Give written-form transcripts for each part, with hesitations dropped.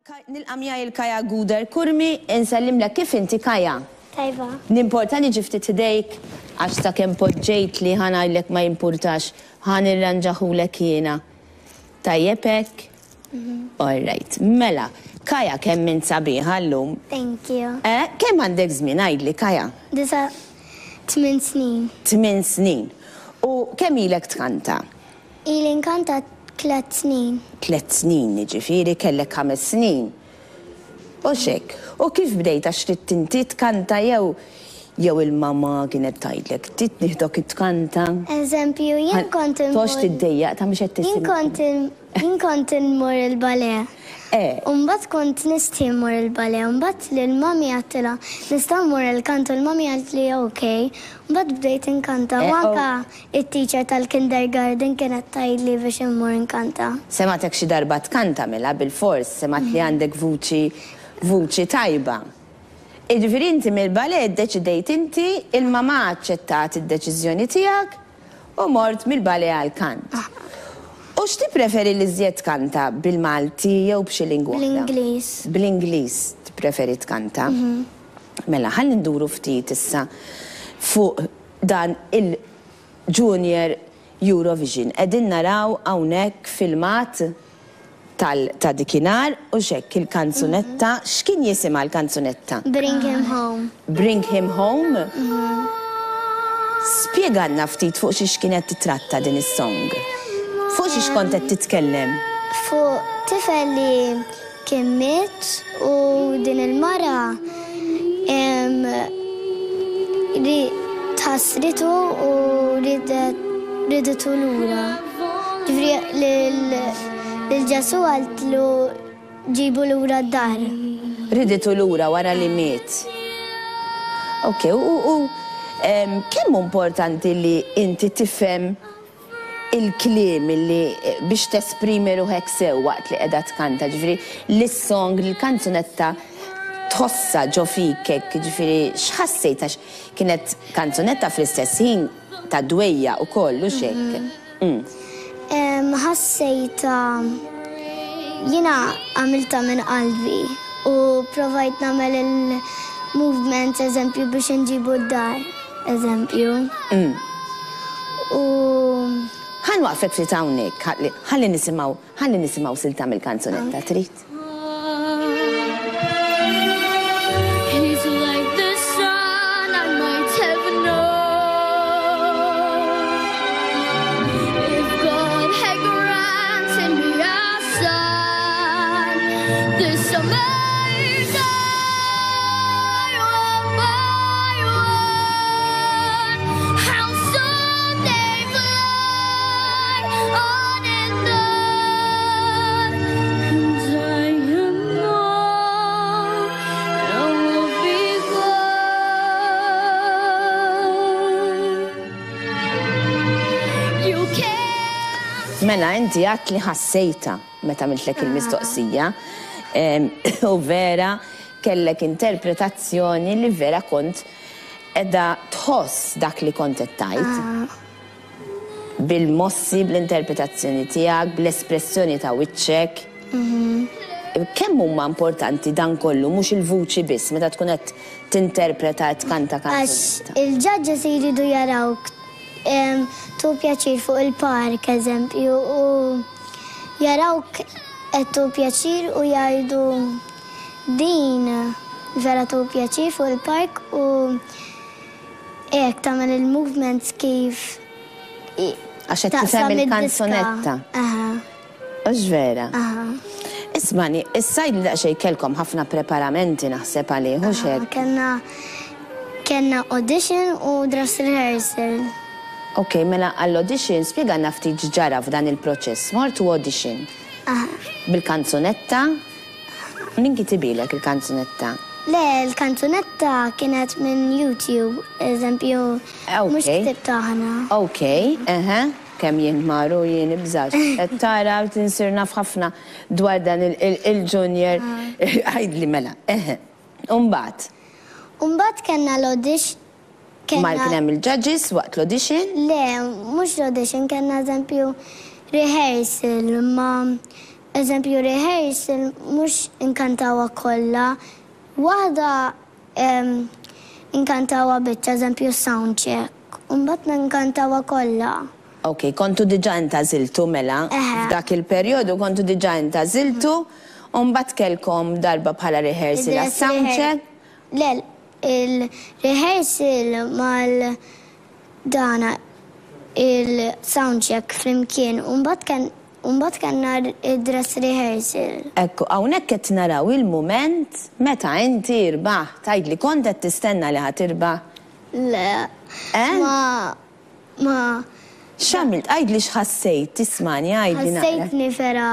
Nilqa' miegħi 'l Kaya Guder Curmi, insellimlek kif inti Kaya? Tajba. Nimporta niġi ftit ħdejk għax sakemm poġġejtli ħa ngħidlek ma jimpurtax ħa nirranġahulek jiena. Tajjeb hekk? All right. Mela, Kaya kemm int sabiħa llum. Thank you. Eh, kemm għandek żmien għidli Kaya? Disa' tmin snin. Tmin snin. U kemm ilek tkanta? Ili nkanta tlett snin. Tlett snin, jiġifieri kellek ħames snin. Hux hekk? U kif bdejt għax ridt inti tkanta jew jew il-mamà kienet tgħidlek trid nieħdok tkanta? Eżempju, jien kont immur. Toqgħodx tiddejjaq ta' mhux qed Jien tisimgħek. kont jien kont immur il-ballet. Eh. U mbagħad kont nistħi mmur il-ballet u mbagħad lill-mummy għedtilha nista' mmur il-kant u l-mummy qaltli ok. Mbagħad bdejt inkanta u Eh, anke It-teacher tal-kindergarten kienet tgħidli biex immur inkanta. Semgħetek xi darba tkanta mela bilfors semgħet li għandek vuċi vuċi tajba. Jiġifieri inti mill-ballet iddeċidejt inti, il-mamà aċċettat id-deċiżjoni tiegħek u mort mill-ballet għall-kant. U x'tippreferi l-iżjed tkanta bil-Malti jew b'xi lingwa oħra? Bl-Ingliż. Bl-Ingliż tippreferi tkanta. Mela ħalli nduru ftit issa fuq Dan il-Junior Eurovision. Qegħdin naraw hawnhekk filmat tal ta' dikinhar u x'hekk il-kanzunetta, x'kien jisimha l-kanzunetta? Bring Him Home. Bring Him Home? Spjegalna ftit fuq xiex kienet titratta din is-song. Fuq xiex kont qed titkellem? Fuq tifel li Kien miet u din il-mara tħassritu u riditu lura. Ġifieri lil Ġesù qaltlu ġibu lura d-dar. Riditu lura wara li miet. Ok, u kemm hu importanti li inti tifhem il-kliem li biex tesprimi ruħek sew waqt li qiegħda tkanta, ġifieri li s-song, li l-kanzunetta tħossha ġo fik hekk, jiġifieri x'ħassejt għax kienet kanzunetta fl-istess ħin ta' dwejjaq ukoll, hux hekk? Ħassejtha, jiena għamiltha minn qalbi u provajt nagħmel il-movements eżempju biex inġibu d-dar. Eżempju. U. Ħa nwaqqfek ftit hawnhekk, ħalli nisimgħu, ħalli nisimgħu silta mill-kanzunetta, trid? Mela inti għedt li ħassejtha meta għamiltlek il-mistoqsija u vera kellek interpretazzjoni li vera kont Qiegħda tħoss dak li kont qed tgħid. Bil-mossi, bl-interpretazzjoni tiegħek, bl-espressjoni ta' wiċċek. Kemm huma importanti dan kollu, mhux il-vuċi biss, meta tkun qed tinterpreta qed tkanta kanzunetta? Għax il-judges jridu jarawk tieħu pjaċir fuq il-park, eżempju, u jarawk qed tieħu pjaċir u jgħidu Din vera tieħu pjaċir fuq il-park u hekk tagħmel il-movements kif Għax qed tifhem il-kanzunetta. Aha. Hux vera? Aha. Ismani, issa għidli daqsxejn kellkom ħafna preparamenti naħseb għalih, hux hekk? Kellna kellna audition u dress rehearsal. Ok, mela għall-audition spjegalna ftit x'ġara f'dan il-proċess. Mortu audition. Aha. Bil-kanzunetta? Min kitibilek il-kanzunetta? Le, il-kanzunetta kienet minn YouTube, eżempju, mhux ktibtha aħna. Ok, eħe, kemm jien ħmar u jien ibżax. Qed tara insir naf ħafna dwar dan il-junior. Għidli mela, eħe. U mbagħad? U mbagħad kellna l-audition. Mar kien hemm il-judges waqt l-audition? Le, mhux l-audition, kellna eżempju rehearsal ma'. Eżempju rehearsal mhux inkantawha kollha, waħda inkantawha biċċa eżempju sound check u mbagħad inkantawha kollha. Ok, kontu diġà intgħażiltu mela, f'dak il-perjodu kontu diġà intgħażiltu u mbagħad kellkom darba bħala rehearsal għas-sound check? Le, il-rehearsal mal dana il-sound check flimkien u mbagħad kien U mbagħad kellna d-dress rehearsal. Ekku, hawnhekk qed naraw il-mument meta inti rbaħt. Tgħidli kont qed tistenna li ħa tirbaħ? Le. Eh? Ma, ma. X'għamilt? Għidli x'ħassejt, ismagħni, għidli naqra. Ħassejtni vera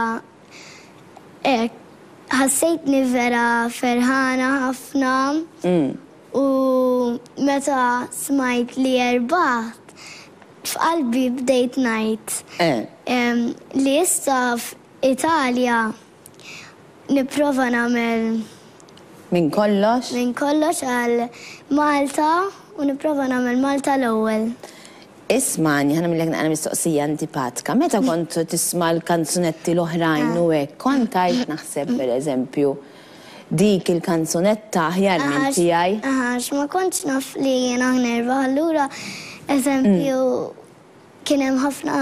hekk, ħassejtni vera ferħana ħafna. U meta smajt li rbaħt, F'qalbi bdejt ngħid li issa f'Italja nipprova nagħmel. Minn kollox? Minn kollox għal Malta u nipprova nagħmel Malta l-ewwel. Ismagħni, ħa nagħmillek naqra mistoqsija antipatka. Meta kont tisma' l-kanzunetti l-oħrajn u hekk, kont tgħid naħseb pereżempju, dik il-kanzunetta aħjar minn tiegħi. Aha, għax ma kontx naf li jiena nerbaħ allura eżempju kien hemm ħafna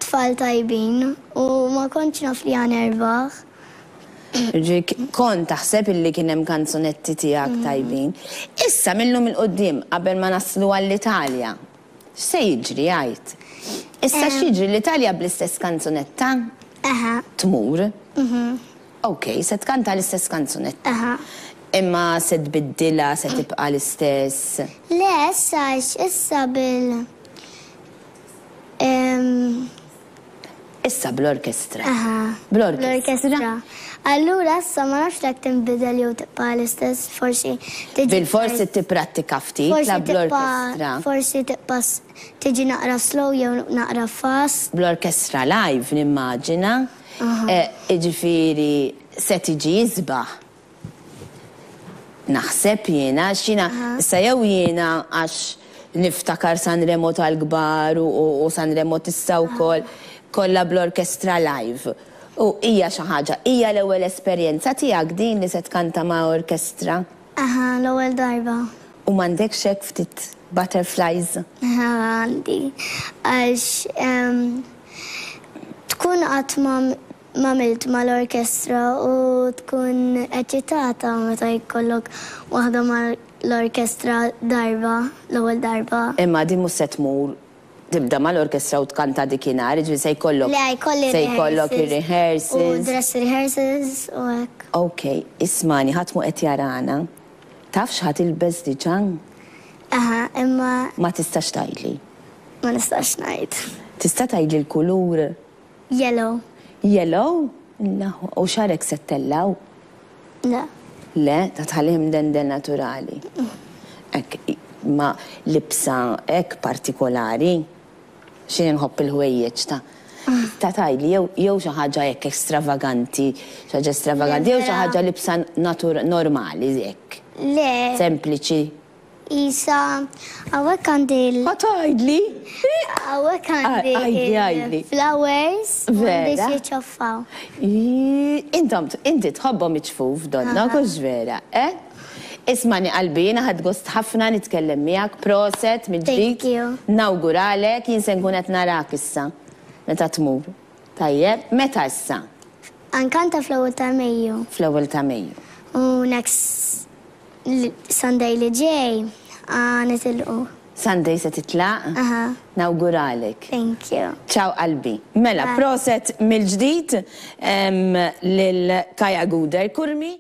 tfal tajbin u ma kontx naf li ħa nerbaħ. Jiġifieri kont taħseb illi kien hemm kanzunetti tiegħek tajbin. Issa mil-lum 'il quddiem qabel ma naslu għall-Italja, x'se jiġri għid? Issa x'jiġri l-Italja bl-istess kanzunetta tmur? Ok, se tkanta l-istess kanzunetta. Aha. Imma se tbiddilha, se tibqa' l-istess? Le, issa għax issa bil Issa bl-orkestra. Aha. Bl-orkestra. Bl-orkestra. Allura issa ma nafx jekk tinbidel jew tibqa' l-istess, forsi tiġi. Bilfors tipprattika ftit la bl-orkestra. Forsi tibqa' tiġi naqra slow jew naqra fast. Bl-orkestra live nimmaġina. Jiġifieri se tiġi isbaħ. Naħseb jiena, għax jiena, issa jew jiena għax niftakar Sanremo tal-kbar u Sanremo t'issa wkoll, kollha bl-orkestra live. U hija xi ħaġa, hija l-ewwel esperjenza tiegħek din li se tkanta ma' orkestra? Aha, l-ewwel darba. U m'għandekx hekk ftit butterflies? Aha, għandi. Għax tkun qatt ma m'għamilt mal-orkestra u tkun eċitata meta jkollok waħda mal-orkestra darba, l-ewwel darba. Imma din mhux se tmur tibda mal-orkestra u tkanta dikinhar, jiġifieri se jkollok Le, jkolli se jkollok ir-rehearsals. Ir-rehearsals. U dress rehearsals u hekk. Ok, ismagħni, ħadd mhu qed jarana. Taf x'ħa tilbes diġà? Aha, imma. Ma tistax tgħidli. Ma nistax ngħid. Tista' tgħidli l-kulur? Yellow. Yellow? L-aħwa. U xagħrek se ttellgħu? Le. Le? Ta' tħallih imdendel naturali? Hekk, ma libsa hekk partikolari? X'inhi nħobb il-ħwejjeġ ta' ta' tgħidli jew jew xi ħaġa hekk extravaganti, xi ħaġa estravaganti jew xi ħaġa libsa natur normali hekk. Le. Sempliċi. Isa, hawnhekk għandi l. Ma tgħidli! Hawnhekk għandi. Għidli, għidli. Flowers. Vera. Biex jiċċaffaw. Intom, inti tħobbhom iċ-ċfuf, donnok, hux vera, eh? Ismagħni qalbi, jiena ħadt gost ħafna nitkellem miegħek, proset mill-ġdid. Thank you. Nawguralek, jien se nkun qed narak issa meta tmur. Tajjeb, meta issa? Nkanta fl-ewwel ta' Mejju. Fl-ewwel ta' Mejju. U next Sunday li ġej għa nitilqu. Sunday se titlaq? Aha. Nawguralek. Thank you. Ciao qalbi. Mela, proset mill-ġdid lil Kaya Guder Curmi.